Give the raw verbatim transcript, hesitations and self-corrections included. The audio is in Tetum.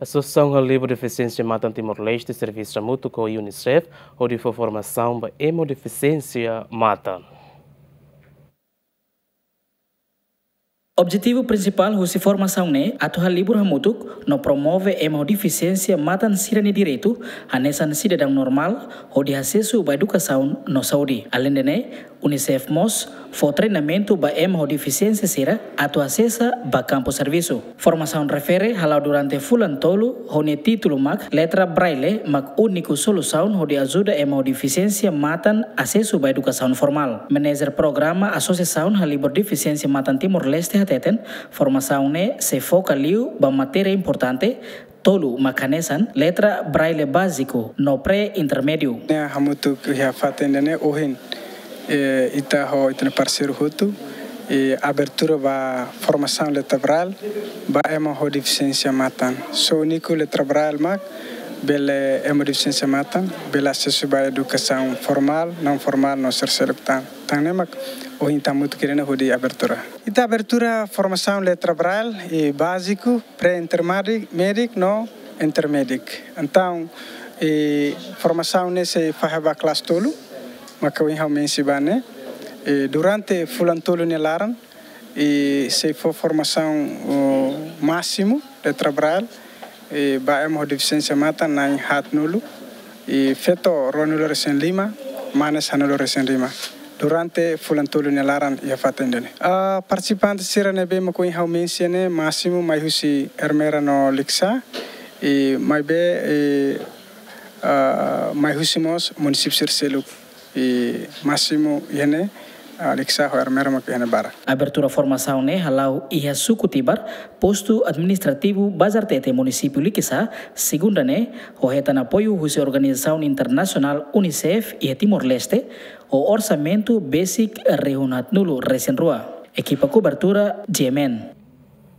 Asosiasaun Halibur Defisiénsia Matan Timor-Leste servisu hamutuk ho UNICEF hodi fó formasaun ba ema ho defisiénsia matan. Objetivu prinsipál husi formasaun ne'e atu halibur hamutuk no promove ema ho defisiénsia matan sira-nia direitu hanesan sidadaun normál, hodi asesu ba edukasaun no saúde. Aleinde ne'e, UNICEF mós fó treinamentu ba ema ho defisiénsia sira atu asesa ba kampu servisu. Formasaun refere hala'o durante fulan tolu, ho nia títulu mak Letra Braille mak úniku solusaun hodi ajuda ema ho defisiénsia matan asesu ba edukasaun formál. Manajer programa Asosiasaun Halibur Defisiénsia Matan Timor-Leste hateten, formasaun ne'e sei foka liu ba matéria importante tolu mak hanesan letra Braille báziku no pré-intermédiu. Ne'e hamutuk iha fatin ida-ne'e ohin, eh, ita ho ita-nia parseiru hotu, eh, abertura ba formasaun letra Braille ba ema ho defisiénsia matan. Só úniku letra Braille mak bele ema ho defisiénsia matan bele asesu ba edukasaun formál, naun formál no sira seluk tan. Tan ne'e mak ohin ita hamutuk iha ne'e hodi abertura. Ita abertura formasaun letra Braille, eh, báziku, pré-intermédiu, médiu no intermédiu. Entaun, eh, formasaun ne'e sei fahe ba klase tolu, maka ohin ha'u mensiona ba ne'e. Eh, durante fulan tolu nia laran, eh, sei fó formasaun, oh, másimu letra Braille, eh, ba ema ho defisiénsia matan na'in haatnulu, eh, feto ruanulu-resin-lima, mane sanulu-resin-lima. Durante fulan tolu nia laran iha fatin ida-ne'e. Ah, partisipante sira ne'ebé mak ohin ha'u mensiona ne'e másimu mai husi Ermera no Likisá, eh, maibé, eh, ah, mai husi mós munisípiu sira seluk. I másimu iha ne'e, ah, Likisá ho Ermera mak iha ne'e barak. Abertura formasaun ne'e hala'o iha suku Tibar, postu administrativu Bazartete, munisípiu Likisá, segunda ne'e, ho hetan apoiu husi organizasaun internasionál UNICEF iha Timor-Leste, ho orsamentu besik rihun haatnulu-resin-rua. Ekipa kobertura, G M N.